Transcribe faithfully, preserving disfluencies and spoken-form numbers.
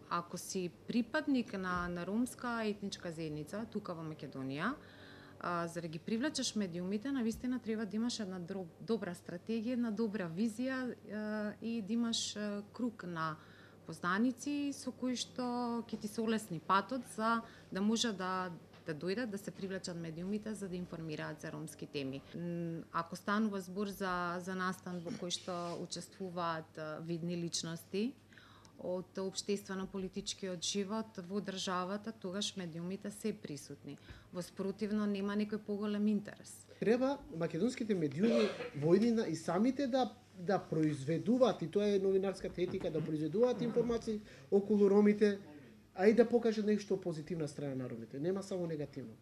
ако си припадник на, на ромска етничка заедница тука во Македонија, а, за да ги привлечеш медиумите, навистина треба да имаш една добра стратегија, една добра визија а, и да имаш а, круг на познаници со кои што ќе ти се олесни патот за да може да да дојдат да се привлечат медиумите за да информираат за ромски теми. Ако станува збор за за настан во кој што учествуваат видни личности од општествено-политичкиот живот во државата, тогаш медиумите се присутни. Во спротивно нема некој поголем интерес. Треба македонските медиуми во иднина и самите да да произведуваат, и тоа е новинарската етика, да произведуваат информации околу ромите, а и да покажат нешто позитивна страна на ромите, нема само негативно.